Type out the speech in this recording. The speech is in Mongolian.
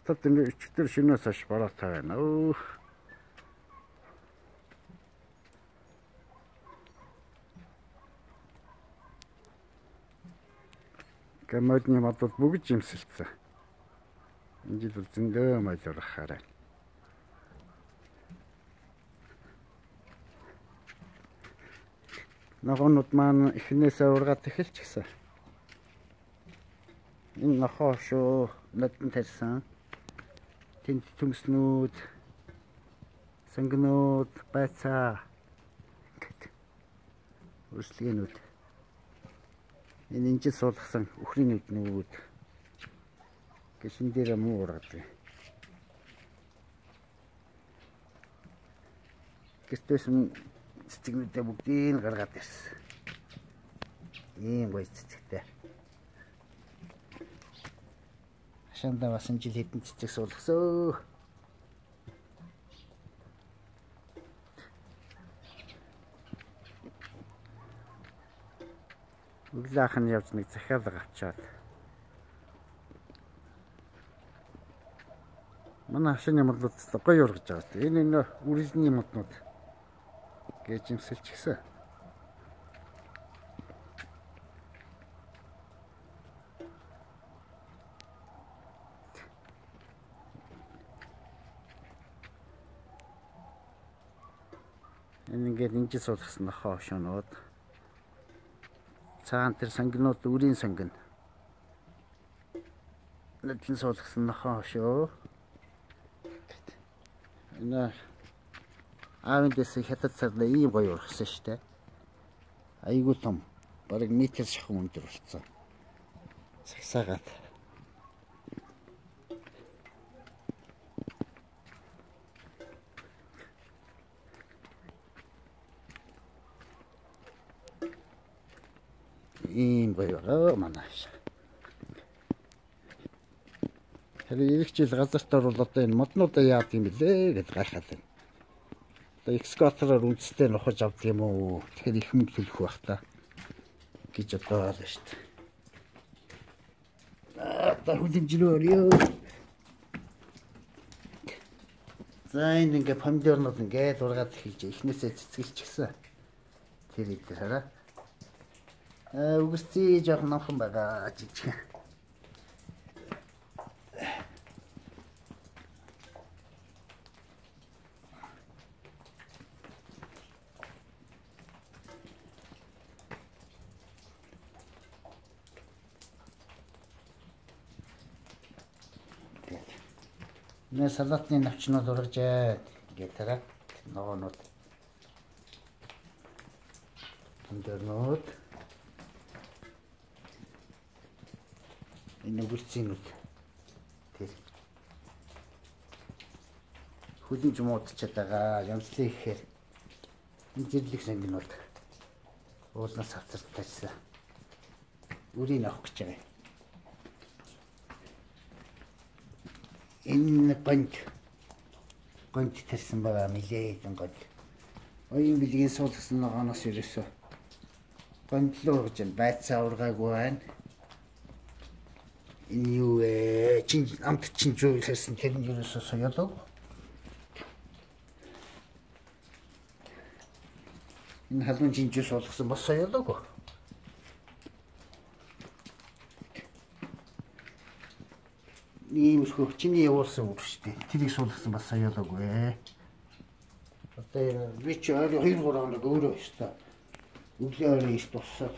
Хотод энэ өчтөр шинээс хойш бороотой байна. Гэмэдний модод бүгд жимсэлцэн. Энэ жил зөндөө майлрах хараа. Ногоонууд маань эхнээсээ ургаад эхэлж гисэн. Энэ нохоо шүү, надад тарьсан. Тэнд түмснүүд, сангнууд, байцаа. Үрслэгнүүд. Энэ инжил суулгасан үхрийн нүднүүд. Гişин дээр муу ураад. Гэвч цэцэгнүүдээ бүгдийг гаргаад ирсэн. Ийм гоё цэцэгтэй. Хашаандаа бас энэ жил хэдэн цэцэг суулгасоо. Өглөөх нь явж нэг захиалга авчаад. Манай хашааны модод гоё ургаж байгаа. Энэ үрэлний моднууд гэж юмсэлж гисэн. Энэ ингээд инжил суулгасан нохоо хошоонууд. Цаан тэр сангинууд үрийн сангин. Надлан суулгасан нохоо хошоо. Энэ аавын дэс хятад царна ийм гоё ургасан штэ. Айгуу том. Бараг метр шахам өндөр болсон. Сагсаагаад. Ийм гоё манайш. Тэгэхээр ирэх жил газарт орвол одоо энэ моднуудаа яад юм бэлээ гэж гайхаад байна. Экскаватороор үндэстэй нухаж авд юм уу? Тэгэхээр их мөнгө төлөх байх та гэж бодоод байна шүү дээ. Та хүлэмжлөөр ёо. За энэ ингээ помидорнууд ингээд ургаад эхэлж эхнээсээ цэцгэлж гисэн. Тэр идэх хараа. Үгэрцээ жоохон номхон байгаа жижиг. Нэ салатны навчнууд ургажээ гэдэг тараа ногоонууд. Помидорнууд. Энэ үгэрцэнүүд. Тэр. Хүлэмж муудчаад байгаа. Ямслын ихээр энэ зэрлэг сангинууд уулнаас авцартайсан. Үрийг авах гэж байгаа. Энэ гонт тарьсан байгаа мэлээдэн гонт. Оюун билгийн суулгасан ногооноос ерөөсөө гонтлоо ургаж байна. Байцаа ургаагүй байна. Энэ юу чин амт чин жуу хэлсэн тэр нь ерөөсөө соёолоо. Энэ халуун чин жуу суулгасан бас соёолоогүй. Иймэрхүү чиний явуулсан үг шүү дээ. Тэрийг суулгасан бас соёолоогүй. Одоо би ч 2-3 хоног өөрөө өстой. Өглөө өрөө их туссаад